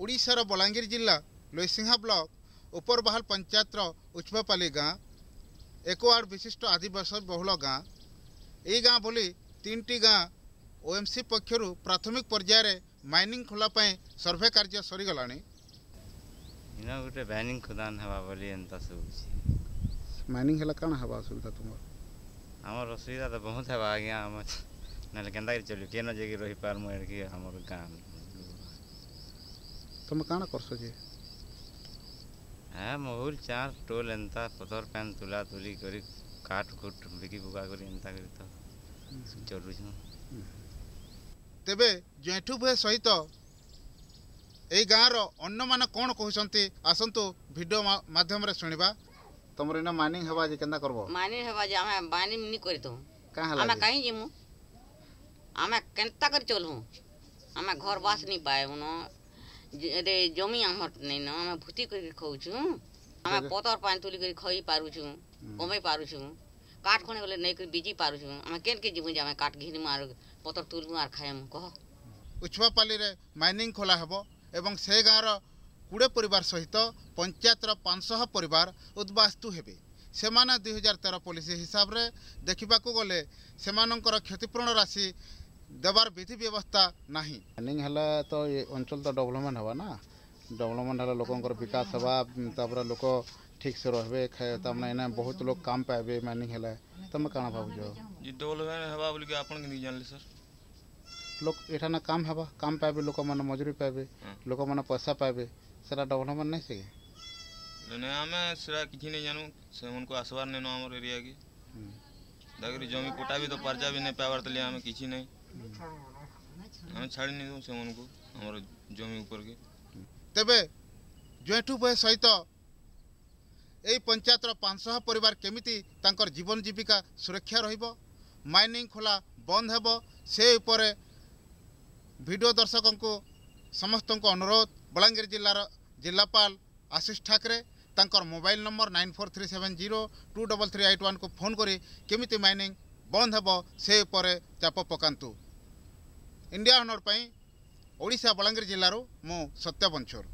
ଓଡ଼ିଶାର ବଲାଙ୍ଗୀର ଜିଲ୍ଲା ଲୋଇସିଂହା ବ୍ଲକ ଉପରବାହାଲ ପଞ୍ଚାୟତର ଉଚ୍ଚପାଲି ଗାଁ ଏକ ୱାର୍ଡ଼ ବିଶିଷ୍ଟ ଆଦିବାସୀ ବହୁଳ ଗାଁ। ଏହି ଗାଁ ଭଳି 3ଟି ଗାଁ ଓଏମ୍ସି ପକ୍ଷରୁ ପ୍ରାଥମିକ ପର୍ଯ୍ୟାୟରେ ମାଇନିଂ ଖୋଲା ପାଇଁ ସର୍ଭେ କାର୍ଯ୍ୟ ସରିଗଲାଣି। ଇନ ଗୋଟେ ମାଇନିଂ ଖୋଦାନ ହେବା ବୋଲି ଏନ୍ତା ଶୁଭୁଛି। ମାଇନିଂ ହେଲେ କାଣା ହେବା ଅସୁବିଧା ତୁମର? ଆମର ଅସୁବିଧା ତ ବହୁତ ହେବା ଆଜ୍ଞା। ଆମ ନହେଲେ କେନ୍ତା କରି ଚଲିବୁ, କେନ ଯାଇକି ରହିପାରମୁ ଏଠି ଆମର ଗାଁ। ତମେ କାଣା କରସ ଯେ? ହେ ମହୁଲ ଚାର ଟୋଲ ଏନ୍ତା ପଥର ପ୍ୟାନ୍ ତୁଲା ତୁଲି କରି କାଠ କୁଟ ବିକି ବୁକା କରି ଏନ୍ତା କରି ତ ଚଲୁଛୁ। ତେବେ ଜେଠୁ ଭୁଏ ସହିତ ଏଇ ଗାଁର ଅନ୍ୟମାନେ କ'ଣ କହୁଛନ୍ତି, ଆସନ୍ତୁ ଭିଡ଼ିଓ ମାଧ୍ୟମରେ ଶୁଣିବା। ତମର ଏଇନା ମାଇନିଂ ହେବା ଯେ କେନ୍ତା କରବ? ମାଇନିଂ ହେବା ଯେ ଆମେ ମାଇନିଂ ନି କରିଥାଉ। କାଁ ହେଲା? ଆମେ କାହିଁ ଯିମୁ? ଆମେ କେନ୍ତା କରି ଚଲମୁ? ଆମେ ଘର ବାସ ନି ପାଇବୁନ, ରେ ଜମି ଆମର ନେଇନ, ଆମେ ଭୂତି କରି ଖାଉଛୁ। ଆମେ ପତର ପାଣି ତୁଲି କରି ଖାଇ ପାରୁଛୁ, କମେଇ ପାରୁଛୁ, କାଠ ଖଣି ଗଲେ ନେଇକରି ବିଜି ପାରୁଛୁ। ଆମେ କେନ୍କେ ଯିମୁ ଯେ ଆମେ କାଠ ଘିନିମୁ ଆର୍ ପତର ତୁଲମୁ ଆର୍ ଖାଇମୁ କହ? ଉଛୁଆପାଲିରେ ମାଇନିଂ ଖୋଲା ହେବ ଏବଂ ସେ ଗାଁର 20 ପରିବାର ସହିତ ପଞ୍ଚାୟତର 500 ପରିବାର ଉଦ୍ବାସ୍ତୁ ହେବେ। ସେମାନେ 2013 ପଲିସି ହିସାବରେ ଦେଖିବାକୁ ଗଲେ ସେମାନଙ୍କର କ୍ଷତିପୂରଣ ରାଶି ଦେବାର ବିଧି ବ୍ୟବସ୍ଥା ନାହିଁ। ମାଇନିଂ ହେଲେ ତ ଏ ଅଞ୍ଚଳ ତ ଡେଭଲପମେଣ୍ଟ ହେବା ନା, ଡେଭଲପମେଣ୍ଟ ହେଲେ ଲୋକଙ୍କର ବିକାଶ ହେବା, ତାପରେ ଲୋକ ଠିକ୍ ସେ ରହିବେ, ତାମାନେ ଏଇନା ବହୁତ ଲୋକ କାମ ପାଇବେ ମାଇନିଂ ହେଲେ। ତମେ କାଣା ଭାବୁଛ? ଡେଭଲପମେଣ୍ଟ ହେବା ବୋଲିକି ଆପଣ କେମିତି ଜାଣିଲେ ସାର୍? ଲୋକ ଏଠାନେ କାମ ହେବା, କାମ ପାଇବେ, ଲୋକମାନେ ମଜୁରୀ ପାଇବେ, ଲୋକମାନେ ପଇସା ପାଇବେ, ସେଟା ଡେଭଲପମେଣ୍ଟ ନାଇଁ ସେ? ନାଇଁ, ଆମେ ସେଟା କିଛି ନାଇଁ ଜାନୁ। ସେମାନଙ୍କୁ ଆସବାର ନାଇଁନ ଆମର ଏରିଆକେ। ଦାକିରି ଜମି ପଟା ବି ତ ପାର୍ଜା ବି ନାଇଁ ପାଇବାର ତାଲି ଆମେ କିଛି ନାଇଁ, ଆମେ ଛାଡ଼ି ନାଇଁ ଦଉ ସେମାନଙ୍କୁ ଆମର ଜମି ଉପରକେ। ତେବେ ଜେଠୁ ଭୁଏ ସହିତ ଏଇ ପଞ୍ଚାୟତର 500 ପରିବାର କେମିତି ତାଙ୍କର ଜୀବନ ଜୀବିକା ସୁରକ୍ଷା ରହିବ, ମାଇନିଂ ଖୋଲା ବନ୍ଦ ହେବ, ସେ ଉପରେ ଭିଡ଼ିଓ ଦର୍ଶକଙ୍କୁ ସମସ୍ତଙ୍କୁ ଅନୁରୋଧ। ବଲାଙ୍ଗୀର ଜିଲ୍ଲାର ଜିଲ୍ଲାପାଳ ଆଶିଷ ଠାକରେ ତାଙ୍କର ମୋବାଇଲ ନମ୍ବର 9437023381କୁ ଫୋନ୍ କରି କେମିତି ମାଇନିଂ ବନ୍ଦ ହେବ ସେ ଉପରେ ଚାପ ପକାନ୍ତୁ। ଇଣ୍ଡିଆ ଅନର ପାଇଁ ଓଡ଼ିଶା ବଲାଙ୍ଗୀର ଜିଲ୍ଲାରୁ ମୁଁ ସତ୍ୟ ବଞ୍ଚୋର।